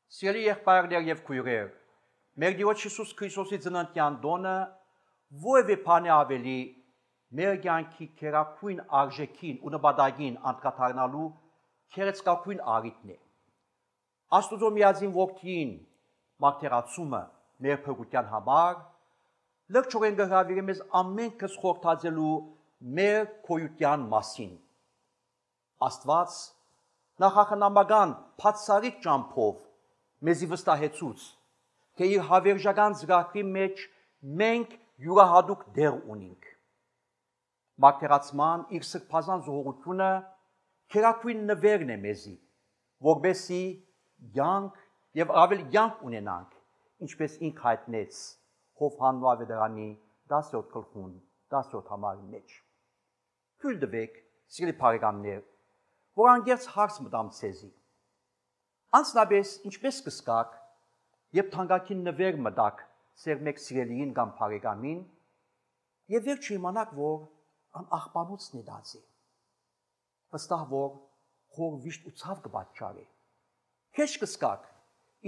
Սիրելի եղբայրներ եւ քույրեր, մեր Տիրոջ Հիսուս Քրիստոսի ծննդյան տոնը որևէ բան ավելի մեր կյանքի քերակույն արժեքին ու նպատակին անդրադառնալու քերեցկակույն առիթն է։ Աստուծո միածին որդին մարտիրացումը մեր փրկության համար լրջորեն գհրավիրի մեզ ամենքս խորհրդածելու մեր քոյության մասին։ Աստված նախախնամական բացառիկ ճամփով մեզի վստահեցուց, թե իր հավերժական ծրագրի մեջ մենք յուրահատուկ դեր ունենք։ Մարտիրացման իր սրբազան զոհությունը քերակույն նվերն է մեզի, որբեսի յանք եւ ավել յանք ունենանք, ինչպես ինք հայտնեց Հովհաննես ավետարանի 10-րդ գլխուն 10-րդ համարի մեջ։ Թույլ տվեք, սիրելի բարեկամներ, որ անգերց հարց մտամ ցեզի։ Անցնաբես ինչպես կսկաք, երբ թանկագին նվեր մտակ ծեր մեկ սիրելիին կամ բարեկամին, եւ վերջ իմանաք, որ ան աղբանոցն է դարձել։ Վստահ որ խոր վիշտ ու ցավ կպատճառի։ Քեզ կսկաք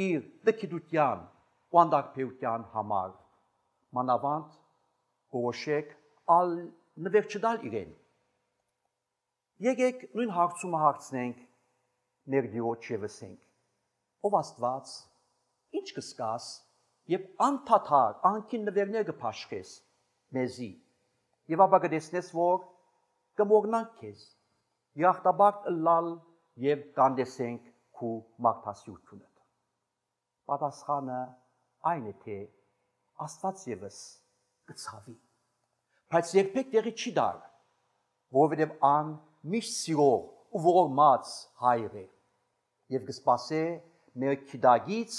իր դքիդության ու անդարբերության համար, մանավանդ որոշեք ալ նվեր չդալ իրեն։ Եկեք նույն հարցումը հարցնենք մեր Տիրոջ եւ ասենք. Ով Աստված, ինչ կսկաս, եւ անդադար անքին նվերներ կփաշխես մեզի, եւ ապա կտեսնես, որ կմոռնանք քեզ, երախտաբար ըլլալ եւ կանդեսենք քու մարդասիրությունը։ Պատասխանը այն է, թե Աստված եւս կցավի, բայց երբեք տեղի չի դար, որովհետեւ ան միշտ սիրող ու ողորմած հայր է եւ կսպասե մեր քիդագից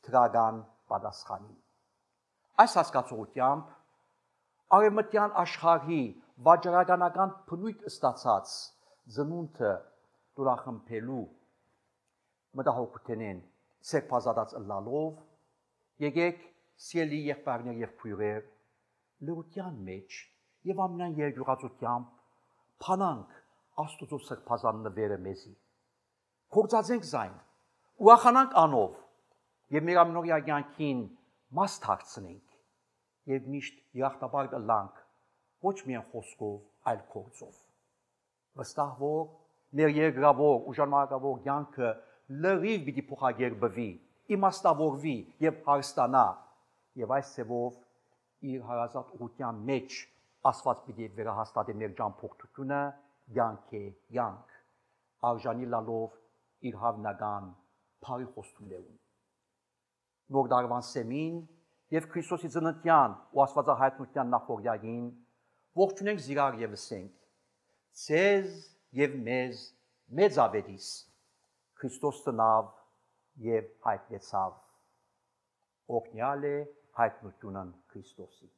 թրական պատասխանին։ Այս հասկացողությամբ արևմտյան աշխարհի վաճառականական բնույթ ստացած ծնունդը դուրախմբելու մտահոգությունեն սերբազատած ըլլալով եկեք սիրելի եղբայրներ եւ քույրեր լրության մեջ եւ ամենայն երկյուղածությամբ փանանք Աստուծո սրբազան նվերը մեզի փորձածենք զայն ուրախանանք անով եւ մեր ամենօրյա կյանքին մաս դարձնենք եւ միշտ երախտաբար ըլլանք ոչ միայն խոսքով այլ գործով վստահ որ մեր երկրավոր ու ժամանակավոր կյանքը լրիվ պիտի փոխագերբվի իմաստավորվի եւ հարստանա եւ այս ծևով իր հարազատ ուղղության մեջ Աստված պիտի վերահաստատի մեր ճամփորդությունը յանք է յանք արժանի լալով իր հավնական բարի խոստումներուն նոր դարվան սեմին եւ Քրիստոսի ծննդյան ու Աստվածահայտնության նախօրյակին ողջունենք զիրար եւ ասենք ցեզ եւ մեզ մեծ ավետիս Քրիստոս ծնավ եւ հայտնեցավ օրհնյալ է հայտնությունն Քրիստոսի